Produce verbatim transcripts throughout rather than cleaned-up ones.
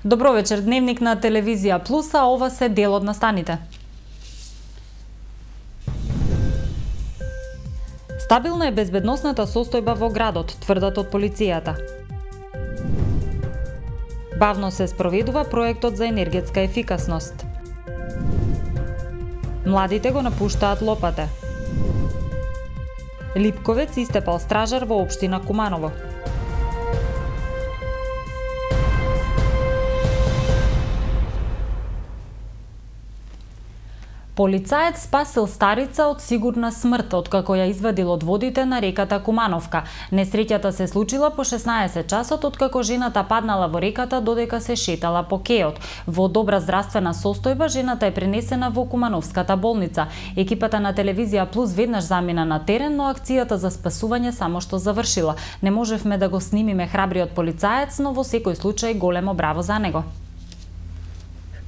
Добро вечер, дневник на телевизија Плюс, а ова се дел од настаните. Стабилна е безбедносната состојба во градот, тврдат од полицијата. Бавно се спроведува проектот за енергетска ефикасност. Младите го напуштаат Лопате. Липковец истепал стражар во општина Куманово. Полицаец спасил старица од сигурна смрт откако ја извадил од водите на реката Кумановка. Несреќата се случила по шеснаесет часот откако жената паднала во реката додека се шетала по кеот. Во добра здравствена состојба жената е пренесена во Кумановската болница. Екипата на телевизија Плюс веднаш замина на терен, но акцијата за спасување само што завршила. Не можевме да го снимиме храбриот полицаец, но во секој случај големо браво за него.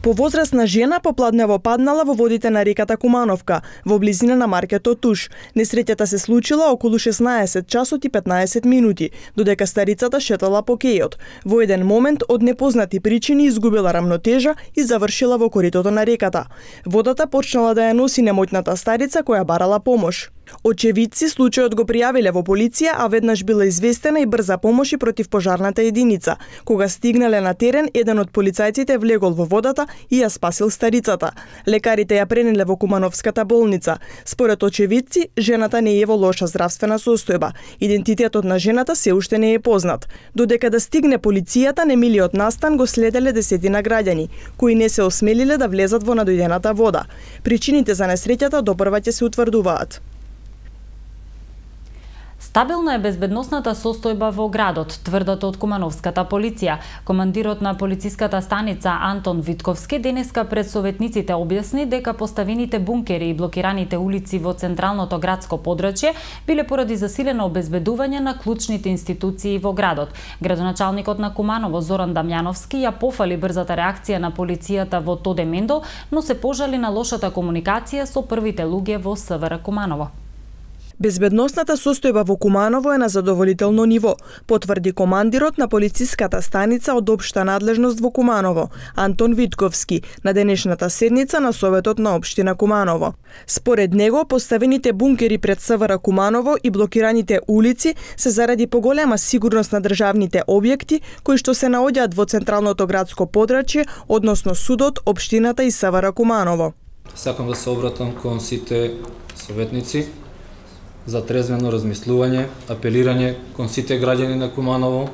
Повозрасна жена попладнево паднала во водите на реката Кумановка, во близина на маркетот Туш. Несреќата се случила околу шеснаесет часот и петнаесет минути, додека старицата шетала по кејот. Во еден момент од непознати причини изгубила рамнотежа и завршила во коритото на реката. Водата почнала да ја носи немоќната старица која барала помош. Очевидци случајот го пријавиле во полиција, а веднаш била известена и брза помош и противпожарната единица. Кога стигнале на терен, еден од полицајците влегол во водата и ја спасил старицата. Лекарите ја пренеле во Кумановската болница. Според очевидци, жената не е во лоша здравствена состојба. Идентитетот на жената се уште не е познат. Додека да стигне полицијата, немилиот настан го следеле десетина граѓани, кои не се осмелиле да влезат во надојдената вода. Причините за несреќата допрва ќе се утврдуваат. Стабилна е безбедносната состојба во градот, тврдат од Кумановската полиција. Командирот на полициската станица Антон Витковски денеска пред советниците објасни дека поставените бункери и блокираните улици во централното градско подрачје биле поради засилено обезбедување на клучните институции во градот. Градоначалникот на Куманово Зоран Дамјановски ја пофали брзата реакција на полицијата во Тоде Мендол, но се пожали на лошата комуникација со првите луѓе во СВР Куманово. Безбедносната состојба во Куманово е на задоволително ниво, потврди командирот на полициската станица од општа надлежност во Куманово, Антон Витковски, на денешната седница на Советот на општина Куманово. Според него, поставените бункери пред СВР Куманово и блокираните улици се заради поголема сигурност на државните објекти кои што се наоѓаат во централното градско подрачје, односно судот, општината и СВР Куманово. Сакам да се обратам кон сите советници за трезвено размислување, апелирање кон сите граѓани на Куманово,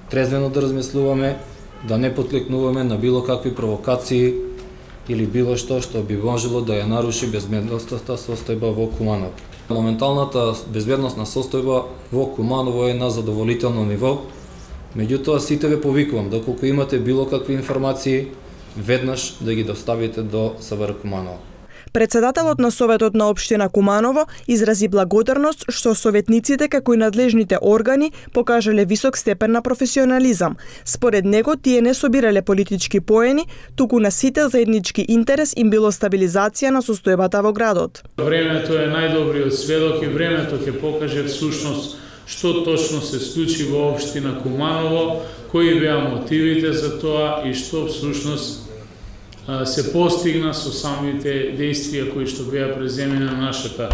трезвено да размислуваме, да не потлекнуваме на било какви провокации или било што што би можело да ја наруши безбедносната состојба во Куманово. Моменталната безбедносна состојба во Куманово е на задоволително ниво, меѓутоа сите ве повикувам, доколку имате било какви информации, веднаш да ги доставите до СВР Куманово. Председателот на Советот на општина Куманово изрази благодарност што советниците како и надлежните органи покажале висок степен на професионализам. Според него тие не собирале политички поени, туку на сите заеднички интерес им било стабилизација на состојбата во градот. Времето е најдобриот сведок и времето ќе покаже всушност што точно се случи во општина Куманово, кои беа мотивите за тоа и што всушност се постигна со самите действија кои што беа преземени на нашата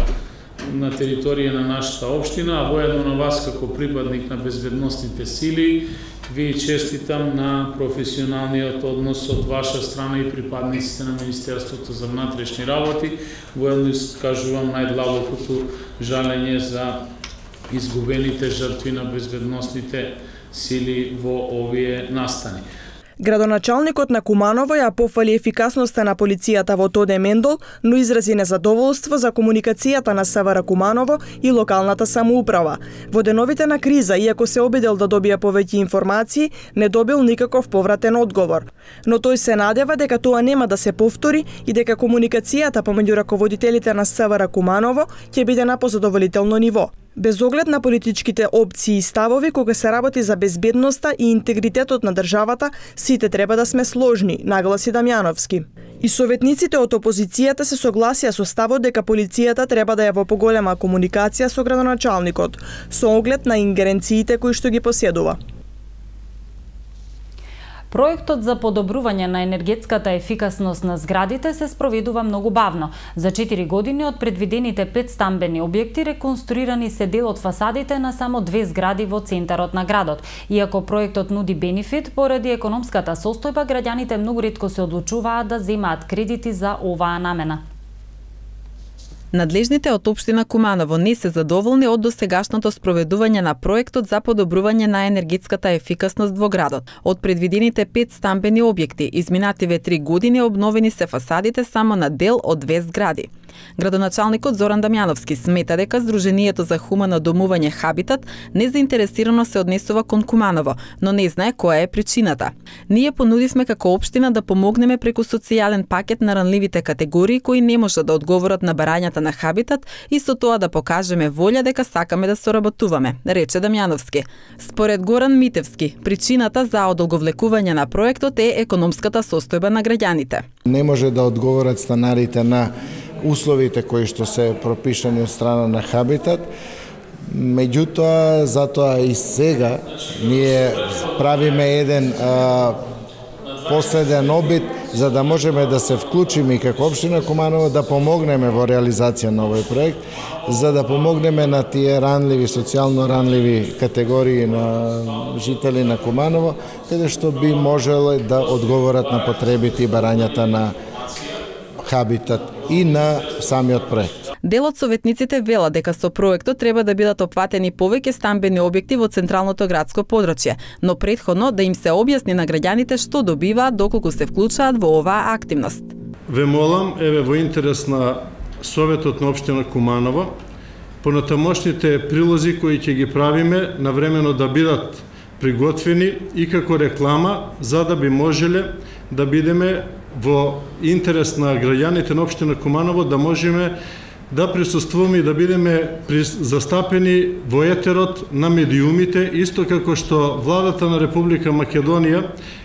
на територија на нашата општина, а воедно на вас како припадник на безбедносните сили ви честитам на професионалниот однос од ваша страна и припадниците на Министерството за внатрешни работи. Воедно искажувам најдлабокото жалење за изгубените жртви на безбедносните сили во овие настани. Градоначалникот на Куманово ја пофали ефикасноста на полицијата во Тоде Мендол, но изрази незадоволство за комуникацијата на СВР Куманово и локалната самоуправа. Во деновите на криза, иако се обидел да добија повеќе информации, не добил никаков повратен одговор. Но тој се надева дека тоа нема да се повтори и дека комуникацијата помеѓу раководителите на СВР Куманово ќе биде на позадоволително ниво. Без оглед на политичките опции и ставови, кога се работи за безбедноста и интегритетот на државата, сите треба да сме сложни, нагласи Дамјановски. И советниците од опозицијата се согласија со ставот дека полицијата треба да е во поголема комуникација со градоначалникот, со оглед на ингеренциите кои што ги поседува. Проектот за подобрување на енергетската ефикасност на зградите се спроведува многу бавно. За четири години од предвидените пет стамбени објекти реконструирани се дел од фасадите на само две згради во центарот на градот. Иако проектот нуди бенефит, поради економската состојба граѓаните многу ретко се одлучуваат да земаат кредити за оваа намена. Надлежните од општина Куманово не се задоволни од досегашното спроведување на проектот за подобрување на енергетската ефикасност во градот. Од предвидените пет стамбени објекти, изминативе три години обновени се фасадите само на дел од две згради. Градоначалникот Зоран Дамјановски смета дека Сдруженијето за хумано домување Хабитат незаинтересирано се однесува кон Куманово, но не знае која е причината. Ние понудивме како општина да помогнеме преку социјален пакет на ранливите категории кои не можат да одговорат на барањата на Хабитат и со тоа да покажеме волја дека сакаме да соработуваме, рече Дамјановски. Според Горан Митевски, причината за одолговлекување на проектот е економската состојба на граѓаните. Не може да одговорат станарите на условите кои што се пропишани од страна на Хабитат. Меѓутоа, затоа и сега ние правиме еден а, последен обид за да можеме да се вклучиме и како општина Куманово да помогнеме во реализација на овој проект, за да помогнеме на тие ранливи, социјално ранливи категории на жители на Куманово, каде што би можеле да одговорат на потребите и барањата на Хабитат и на самиот проект. Дел од советниците вела дека со проектот треба да бидат опфатени повеќе стамбени објекти во централното градско подрачје, но претходно да им се објасни на граѓаните што добиваат доколку се вклучаат во оваа активност. Ве молам, еве во интерес на Советот на општина Куманово, понатамошните прилози кои ќе ги правиме навремено да бидат приготвени и како реклама, за да би можеле да бидеме во интерес на граѓаните на општина Куманово, да можеме да присуствуваме и да бидеме застапени во етерот на медиумите, исто како што владата на Република Македонија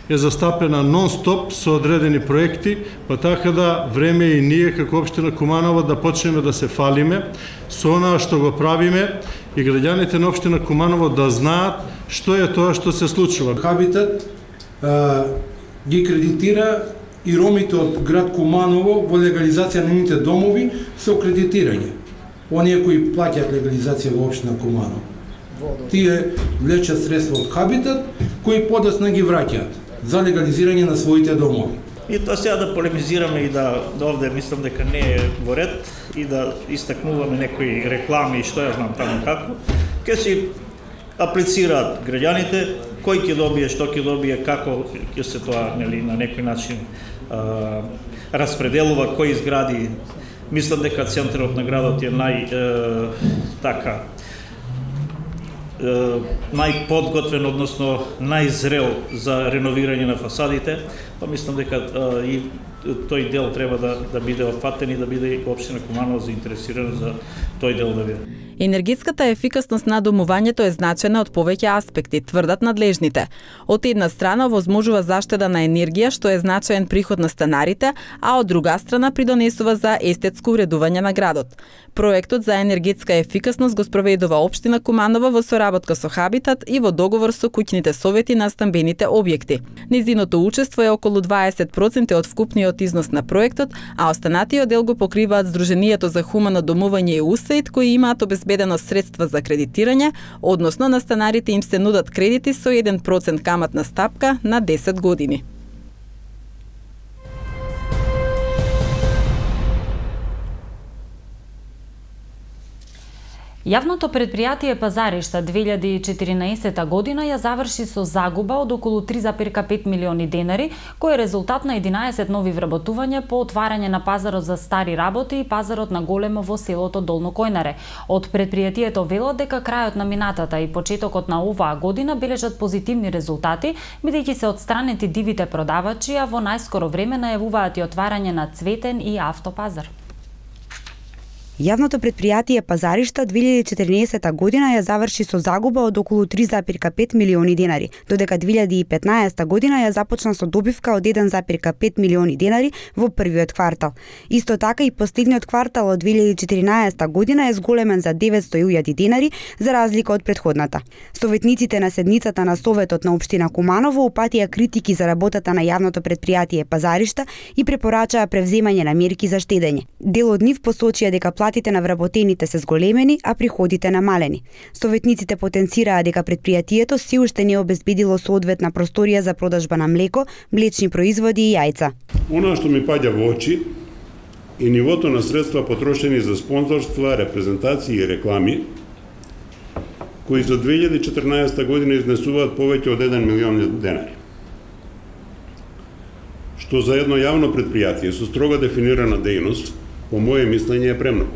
е застапена нон-стоп со одредени проекти, па така да време и ние како општина Куманово да почнеме да се фалиме со онаа што го правиме и граѓаните на општина Куманово да знаат што е тоа што се случува. Хабитат а, ги кредитира и ромите од град Куманово во легализација на нивните домови со кредитирање. Оние кои плаќаат легализација во општина Куманово. Тие влечат средства од Хабитат, кои подоцна ги враќаат за легализирање на своите домови. И тоа сега да полемизираме и да, да овде мислам дека не е во ред и да истакнуваме некои реклами и што ја знам таму како, ќе си аплицираат граѓаните, кој ќе добие, што ќе добие, како ќе се тоа, нели, на некој начин а, распределува, кои згради. Мислам дека центарот на градот е нај е, така е, најподготвен, односно најзрел за реновирање на фасадите, па мислам дека а, и тој дел треба да, да биде опфатен и да биде и општина Куманово заинтересирана за тој дел да биде. Енергетската ефикасност на домувањето е значена од повеќе аспекти, тврдат надлежните. Од една страна овозможува заштеда на енергија, што е значаен приход на станарите, а од друга страна придонесува за естетско уредување на градот. Проектот за енергетска ефикасност го спроведува општина Куманово во соработка со Хабитат и во договор со куќните совети на стамбените објекти. Незиното учество е околу дваесет проценти од вкупниот износ на проектот, а останатиот дел го покриваат Сдруженијето за хумано домување и УСАИД, кои имаат обезбедено средства за кредитирање, односно на станарите им се нудат кредити со еден процент каматна стапка на десет години. Јавното предпријатие Пазаришта две илјади и четиринаесета година ја заврши со загуба од околу три зарез пет милиони денари, кој е резултат на единаесет нови вработувања по отварање на пазарот за стари работи и пазарот на големо во селото Долно Којнаре. Од предпријатието велат дека крајот на минатата и почетокот на оваа година бележат позитивни резултати, бидејќи се отстранети дивите продавачи, а во најскоро време најавуваат и отварање на цветен и автопазар. Јавното претпријатие Пазаришта две илјади и четрнаесетта година ја заврши со загуба од околу три зарез пет милиони денари, додека две илјади и петнаесетта година ја започна со добивка од еден зарез пет милиони денари во првиот квартал. Исто така и последниот квартал од две илјади и четиринаесетта година е зголемен за деветсто илјади денари, за разлика од претходната. Советниците на седницата на Советот на општина Куманово упатија критики за работата на јавното претпријатие Пазаришта и препорачаа превземање на мерки за штедење. Дел од нив посочија дека платите на вработените се зголемени, а приходите намалени. Советниците потенцираа дека претпријатието се уште не обезбедило соодветна просторија за продажба на млеко, млечни производи и јајца. Она што ми паѓа во очи е нивото на средства потрошени за спонзорства, репрезентации и реклами, кои за две илјади и четрнаесетта година изнесуваат повеќе од еден милион денари. Што за едно јавно претпријатие со строго дефинирана дејност, по моје мислење е премногу.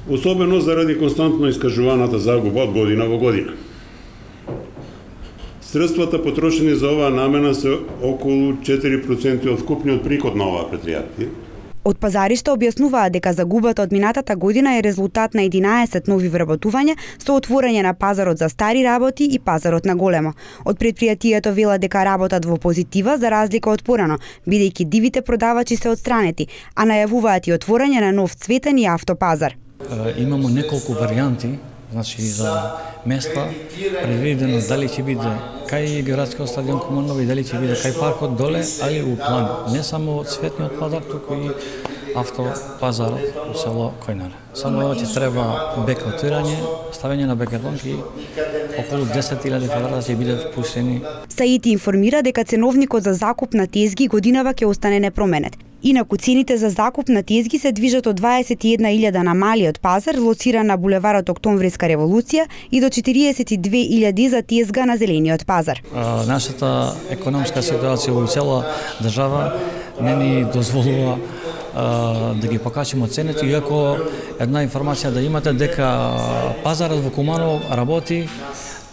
Особено заради константно искажуваната загуба од година во година. Средствата потрошени за оваа намена се околу четири проценти од вкупниот приход на оваа претпријатие. Од Пазаришта објаснуваа дека загубата од минатата година е резултат на единаесет нови вработувања со отворање на пазарот за стари работи и пазарот на големо. Од претпријатието вела дека работат во позитива за разлика од порано, бидејќи дивите продавачи се отстранети, а најавуваат и отворање на нов цветен и автопазар. Имамо неколку варијанти, значи за места предвидено дали ќе биде кај градскиот стадион Куманово и дали ќе биде кај паркот доле, али у план не само цветниот пазар, туку и автопазарот у село Којнар. Само ќе треба бекотирање, ставење на бекетонки и околу десет илјади квадрата ќе бидат пуштени. Саити информира дека ценовникот за закуп на тезги годинава ќе остане непроменет. Инаку цените за закуп на тезги се движат од дваесет и една илјада на малиот пазар, лоциран на булеварот Октомвриска револуција, и до четириесет и две илјади за тезга на зелениот пазар. А, нашата економска ситуација во цела држава не ни дозволува а, да ги покачиме цените, иако една информација да имате дека пазарот во Куманово работи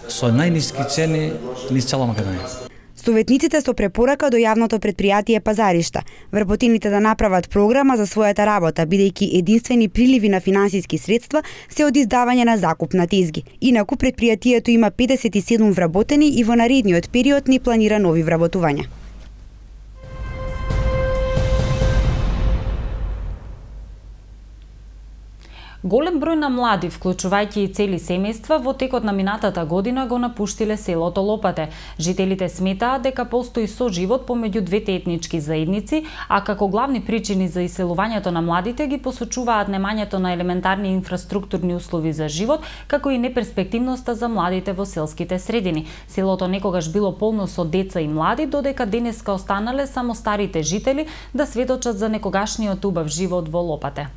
со најниски цени низ цела Македонија. Советниците со препорака до јавното претпријатие Пазаришта вработените да направат програма за својата работа, бидејќи единствени приливи на финансиски средства се од издавање на закуп на тезги. Инаку претпријатието има педесет и седум вработени и во наредниот период ни планира нови вработувања. Голем број на млади, вклучувајќи и цели семејства, во текот на минатата година го напуштиле селото Лопате. Жителите сметаат дека постои соживот помеѓу двете етнички заедници, а како главни причини за иселувањето на младите ги посочуваат немањето на елементарни инфраструктурни услови за живот, како и неперспективноста за младите во селските средини. Селото некогаш било полно со деца и млади, додека денеска останале само старите жители да сведочат за некогашниот убав живот во Лопате.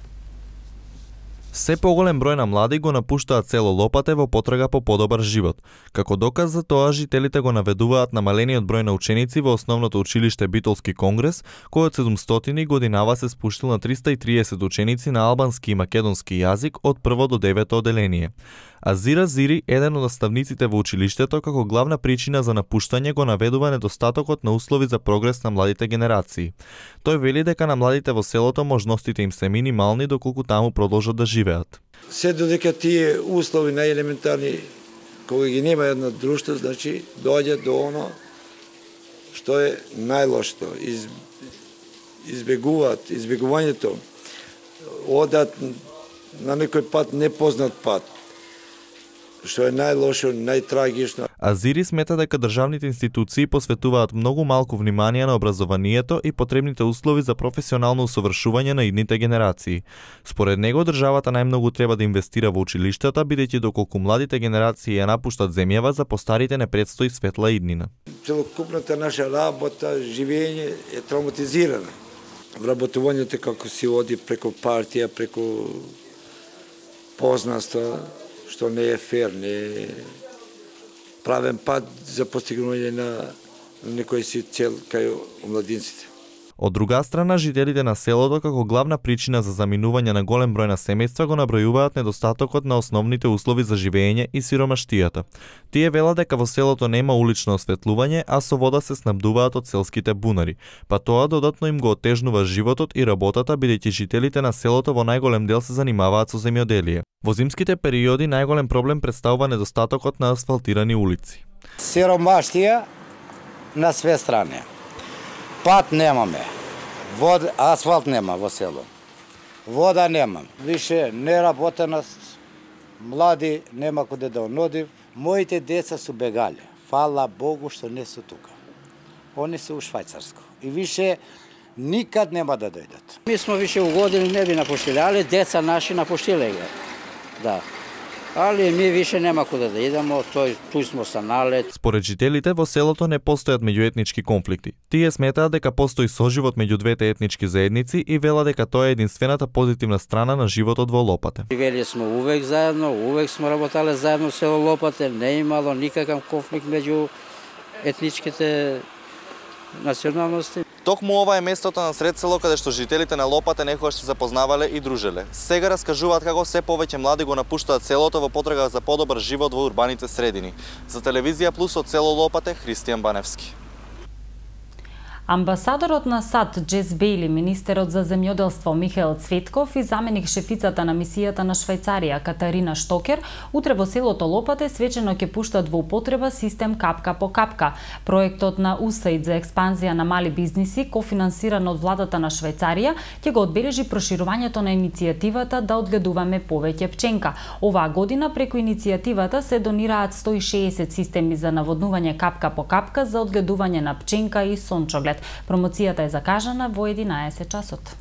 Се поголем број на млади го напуштаат село Лопате во потрага по подобар живот. Како доказ за тоа, жителите го наведуваат намалениот број на ученици во основното училиште Битолски конгрес, кој од седумстотини годинава се спуштил на триста и триесет ученици на албански и македонски јазик од прво до девето оделение. Азира Зири, еден од наставниците во училиштето, како главна причина за напуштање го наведува недостатокот на услови за прогрес на младите генерации. Тој вели дека на младите во селото можностите им се минимални доколку таму продолжат да живеат. Се додека тие услови најелементарни, кога ги нема една друштво, значи доаѓа до оно што е најлошото. Из, избегуваат, избегувањето, одат на некој пат непознат пат, што е најлошо, најтрагично. Азири смета дека државните институции посветуваат многу малку внимание на образованието и потребните услови за професионално усовршување на идните генерации. Според него, државата најмногу треба да инвестира во училиштата, бидејќи доколку младите генерации ја напуштат земјава, за постарите не предстои светла иднина. Целокупната наша работа, живење е травматизирана. Вработувањето како се оди преку партија, преку познанства, што не е фер, не е правен пат за постигнување на некој си цел кај омладинците. Од друга страна, жителите на селото како главна причина за заминување на голем број на семејства го набројуваат недостатокот на основните услови за живење и сиромаштијата. Тие велат дека во селото нема улично осветлување, а со вода се снабдуваат од селските бунари, па тоа додатно им го отежнува животот и работата, бидејќи жителите на селото во најголем дел се занимаваат со земјоделие. Во зимските периоди најголем проблем представува недостатокот на асфалтирани улици. Сиромаштија на све страни. Пат немаме. Вод, асфалт нема во село. Вода нема. Више неработеност. Млади нема куде да оноди. Моите деца су бегали. Фала Богу што не су тука. Они се у Швајцарско. И више никад нема да дојдат. Ми смо више у години не би напуштиле, али деца наши напуштиле ги. Да. Али ми више нема куде да идемо, тој туј смо станале. Според жителите во селото не постојат меѓуетнички конфликти. Тие сметаат дека постои соживот меѓу двете етнички заедници и вела дека тоа е единствената позитивна страна на животот во Лопате. Живели смо увек заедно, увек смо работале заедно село Лопате, не имало никакав конфликт меѓу етничките националности. Токму ова е местото на сред село каде што жителите на Лопате некогаш се запознавале и дружеле. Сега раскажуваат како се повеќе млади го напуштаат селото во потрага за подобар живот во урбаните средини. За Телевизија Плюс од село Лопате, Христијан Баневски. Амбасадорот на САД Джес Бејли, министерот за земјоделство Михаел Цветков и заменик шефицата на мисијата на Швајцарија Катарина Штокер утре во селото Лопате свечено ќе пуштат во употреба систем капка по капка. Проектот на УСАИД за експанзија на мали бизниси, кофинансиран од владата на Швајцарија, ќе го одбележи проширувањето на иницијативата да одгледуваме повеќе пченка. Оваа година преку иницијативата се донираат сто и шеесет системи за наводнување капка по капка за одгледување на пченка и сончоглед. Промоцијата е закажана во единаесет часот.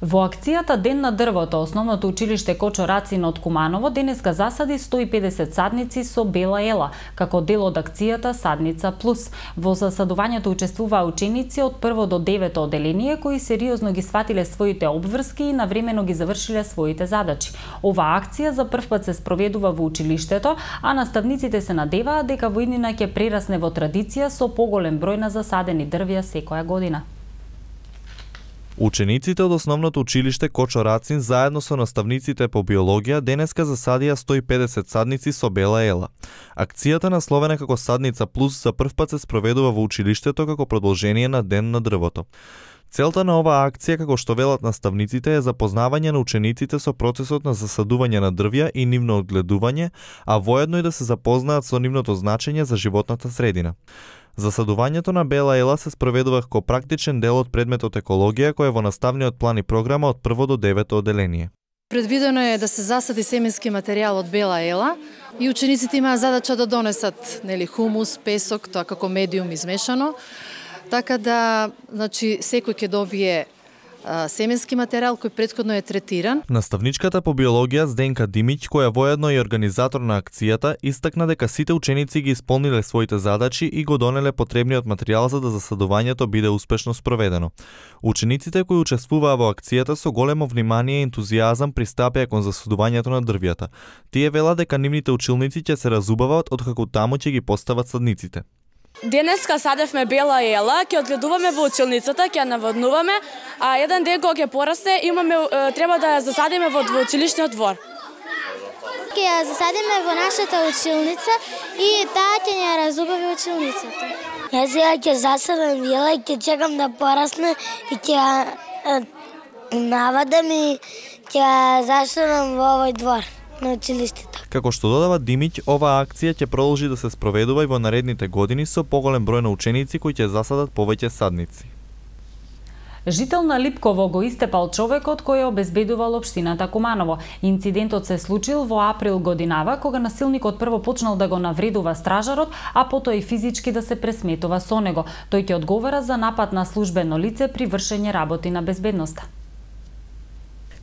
Во акцијата Ден на дрвото, основното училиште Кочо Рацин од Куманово денеска засади сто и педесет садници со бела ела, како дел од акцијата Садница Плюс. Во засадувањето учествуваа ученици од прво до девето оделение кои сериозно ги сватиле своите обврски и навремено ги завршиле своите задачи. Оваа акција за прв пат се спроведува во училиштето, а наставниците се надеваат дека во иднина ќе прерасне во традиција со поголем број на засадени дрвја секоја година. Учениците од основното училиште Кочо Рацин заедно со наставниците по биологија денеска засадија сто и педесет садници со бела ела. Акцијата насловена како Садница Плюс за прв пат се спроведува во училиштето како продолжение на Ден на дрвото. Целта на оваа акција, како што велат наставниците, е запознавање на учениците со процесот на засадување на дрвја и нивно одгледување, а воедно и да се запознаат со нивното значење за животната средина. Засадувањето на бела ела се спроведува како практичен дел од предметот екологија кој е во наставниот план и програма од прво до девето оделение. Предвидено е да се засади семенски материјал од бела ела и учениците имаат задача да донесат нели хумус, песок, тоа како медиум измешано, така да значи секој ќе добие семенски материјал кој претходно е третиран. Наставничката по биологија Зденка Димиќ, која воедно е организатор на акцијата, истакна дека сите ученици ги исполниле своите задачи и го донеле потребниот материјал за да засадувањето биде успешно спроведено. Учениците кои учествуваа во акцијата со големо внимание и ентузијазам пристапија кон засадувањето на дрвјата. Тие велат дека нивните училници ќе се разубават откако таму ќе ги постават садниците. Денеска садевме бела ела, ќе одгледуваме во училницата, ќе ја наводнуваме, а еден ден кога ќе порасте, имаме треба да ја засадиме во училишниот двор. Ќе ја засадиме во нашата училница и таа ќе ја разубави училницата. Јас сега ќе засадам ела и ќе чекам да порасне и ќе ја навадам и ќе ја засадам во овој двор на училиштето. Како што додава Димиќ, оваа акција ќе продолжи да се спроведува и во наредните години со поголем број на ученици кои ќе засадат повеќе садници. Жител на Липково го истепал човекот кој обезбедувал општината Куманово. Инцидентот се случил во април годинава, кога насилникот прво почнал да го навредува стражарот, а потоа и физички да се пресметува со него. Тој ќе одговара за напад на службено лице при вршење работи на безбедноста.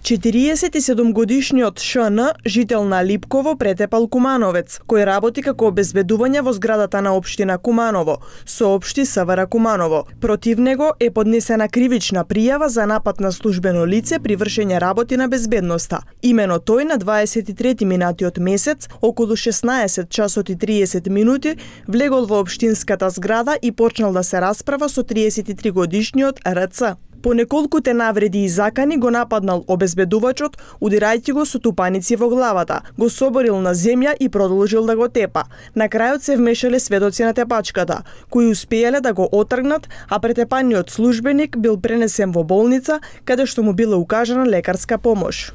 четириесет и седум годишниот Ш Н, жител на Липково, претепал Кумановец, кој работи како обезбедување во зградата на општина Куманово, соопшти С В Р Куманово. Против него е поднесена кривична пријава за напад на службено лице при вршење работи на безбедноста. Имено тој на дваесет и трети минатиот месец, околу шеснаесет часот и триесет минути, влегол во општинската зграда и почнал да се расправа со триесет и три годишниот Р Ц. По неколкуте навреди и закани го нападнал обезбедувачот, удирајќи го со тупаници во главата, го соборил на земја и продолжил да го тепа. На крајот се вмешале сведоци на тепачката, кои успеале да го отргнат, а претепаниот службеник бил пренесен во болница, каде што му била укажана лекарска помош.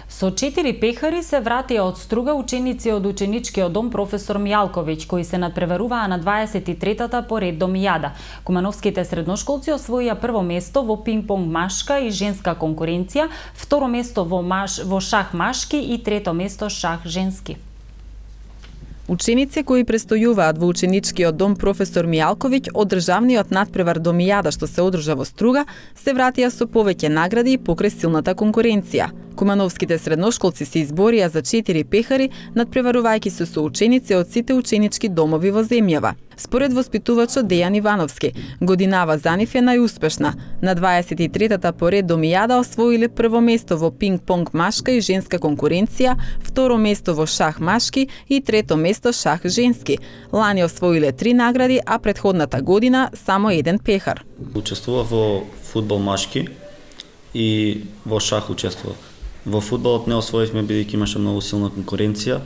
Со четири пехари се вратија од Струга ученици од ученичкиот дом професор Мијалковиќ, кои се надпреваруваа на дваесет и третата по ред домијада. Кумановските средношколци освоија прво место во пинг-понг машка и женска конкуренција, второ место во, маш, во шах машки и трето место шах женски. Ученици кои престојуваат во ученичкиот дом професор Мијалковиќ од државниот надпревар домијада што се одржа во Струга, се вратија со повеќе награди и покрај силната конкуренција. Кумановските средношколци се изборија за четири пехари, надпреварувајќи се со ученици од сите ученички домови во земјава. Според воспитувачот Дејан Ивановски, годинава за нив е најуспешна. На дваесет и третата по ред домијада освоиле прво место во пинг-понг машка и женска конкуренција, второ место во шах машки и трето место шах женски. Лани освоиле три награди, а претходната година само еден пехар. Учествував во фудбал машки и во шах учествував. Во фудбалот не освоивме бидејќи имаше многу силна конкуренција,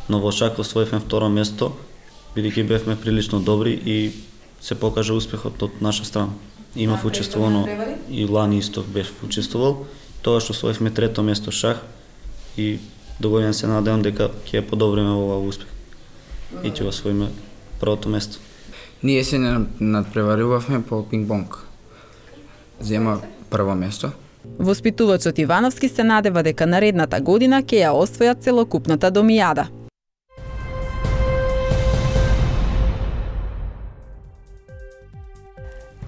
но во шах освоивме второ место, бидејќи бевме прилично добри и се покажа успехот од наша страна. Имав учествувано и лани исто бев учествувал, тоа што освоивме трето место шах и до година се надевам дека ќе подобриме овој успех и ќе освоиме првото место. Ние се надпреварувавме по пинг-понг. Зема прво место. Воспитувачот Ивановски се надева дека наредната година ќе ја освојат целокупната домијада.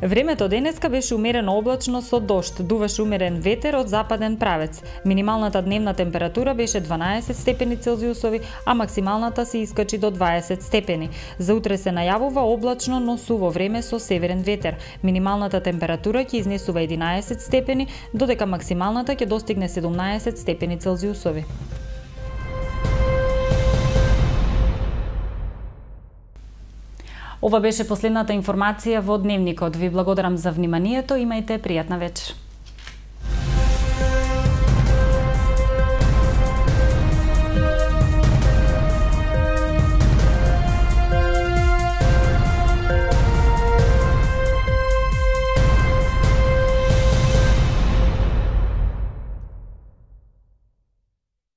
Времето денеска беше умерено облачно со дожд, дуваше умерен ветер од западен правец. Минималната дневна температура беше дванаесет степени Целзиусови, а максималната се искачи до дваесет степени. За утре се најавува облачно, но суво време со северен ветер. Минималната температура ќе изнесува единаесет степени, додека максималната ќе достигне седумнаесет степени Целзиусови. Ова беше последната информација во Дневникот. Ви благодарам за вниманието, имајте пријатна вечер.